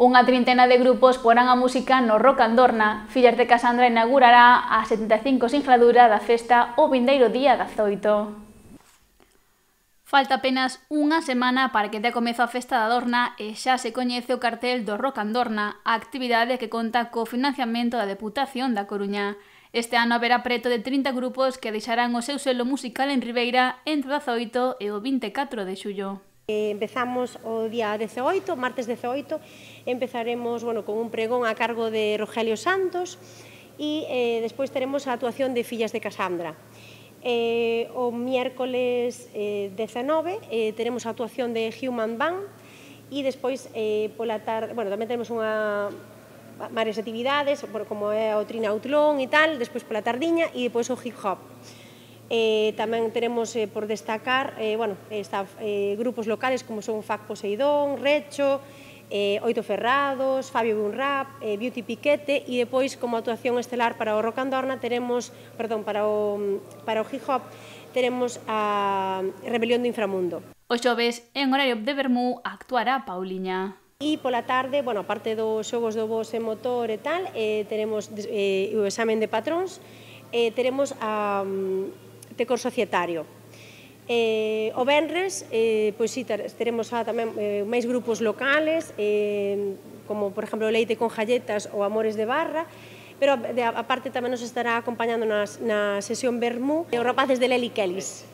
Unha trintena de grupos porán a música no Rock Andorna. Fillas de Casandra inaugurará a 75 sinxladura da festa o vindeiro día 18. Falta apenas unha semana para que dea comezo a festa da Adorna e xa se coñece o cartel do Rock Andorna, a actividade que conta co financiamento da Deputación da Coruña. Este ano haberá preto de 30 grupos que deixarán o seu selo musical en Ribeira entre o 18 e o 24 de xullo. Empezamos o día 18, martes 18, empezaremos con un pregón a cargo de Rogelio Santos e despois teremos a actuación de Fillas de Casandra. O miércoles 19 teremos a actuación de Human Band e despois pola tarde, tamén teremos varias actividades, como é o Trinautlón e tal, despois pola tardiña e despois o hip hop. Tamén teremos por destacar grupos locales como son Fac Poseidón, Recho, Oito Ferrados, Fabio Bunrap, Beauty Piquete e depois como actuación estelar para o Rock Andorna para o hip hop teremos a Rebelión do Inframundo. O xoves, en horario de vermú, actuará Pauliña. E pola tarde, aparte dos xogos do voz e motor e tal, teremos o examen de patróns, teremos a Tecor Societario. O venres, teremos tamén máis grupos locales, como, por exemplo, Leite con Jalletas ou Amores de Barra, pero aparte tamén nos estará acompañando na sesión Vermú os rapaces de Leli Kellis.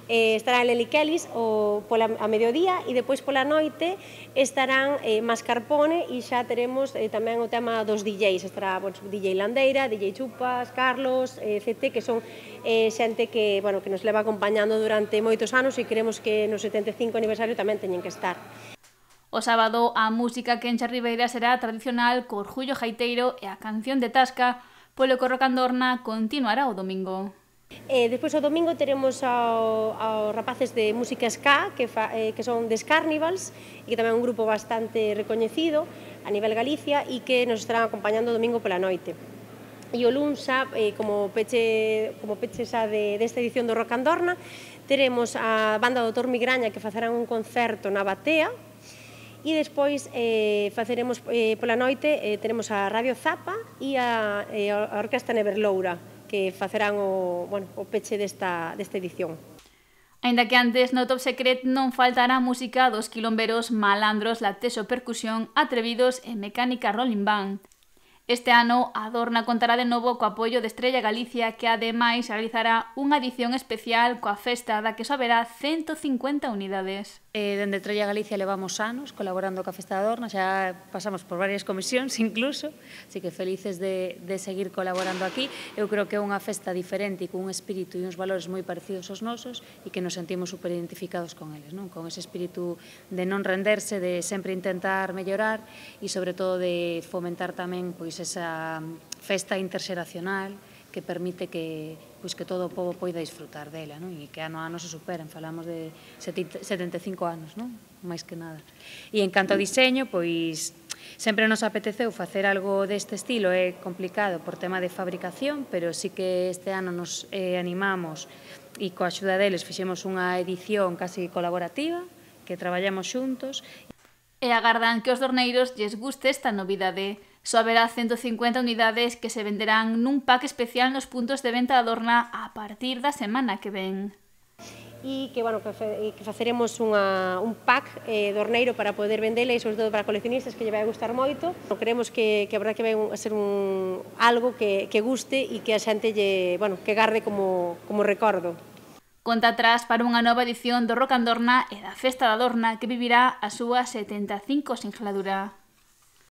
Estará Leli Kellis a mediodía e depois pola noite estarán Mascarpone e xa teremos tamén o tema dos DJs. Estará DJ Landeira, DJ Chupas, Carlos, CT, que son xente que nos leva acompañando durante moitos anos e queremos que no 75 aniversario tamén teñen que estar. O sábado a música que enche Ribeira será tradicional co orgullo jaiteiro e a canción de Tasca, polo que o Rock Andorna continuará o domingo. Despois o domingo teremos aos rapaces de música ska que son The Carnivals e que tamén é un grupo bastante recoñecido a nivel Galicia e que nos estarán acompañando o domingo pola noite. E o luns como peche xa desta edición do Rock Andorna teremos a banda do Doutor Migraña que facerán un concerto na Batea e despois faceremos pola noite teremos a Radio Zapa e a Orquesta Neverloura que facerán o peche desta edición. Aínda que antes no Top Secret non faltará a música dos quilomberos Malandros, Latexo Percusión, Atrevidos e Mecánica Rolling Band. Este ano a Adorna contará de novo co apoio de Estrella Galicia, que ademais realizará unha edición especial coa festa da que só haberá 150 unidades. Dende Estrella Galicia levamos anos colaborando coa Festa da Adorna, xa pasamos por varias comisións incluso, así que felices de seguir colaborando aquí. Eu creo que é unha festa diferente e con un espírito e uns valores moi parecidos aos nosos e que nos sentimos super identificados con eles, con ese espírito de non renderse, de sempre intentar mellorar e sobre todo de fomentar tamén esa festa interxeracional que permite que todo o pobo poida disfrutar dela e que ano a ano se superen. Falamos de 75 anos, máis que nada. E en canto ao diseño, sempre nos apeteceu facer algo deste estilo. É complicado por tema de fabricación, pero sí que este ano nos animamos e coa axuda deles fixemos unha edición casi colaborativa que traballamos xuntos. E agardan que os dorneiros lles guste esta novidade. Só haberá 150 unidades que se venderán nun pack especial nos puntos de venta da Adorna a partir da semana que ven. E que faceremos un pack dorneiro para poder vendela e sobre todo para coleccionistas que lle vai gustar moito. Queremos que a verdade que vai a ser algo que guste e que a xente que garde como recordo. Conta atrás para unha nova edición do Rock Andorna e da Festa da Adorna que vivirá a súa 75 sinxladura.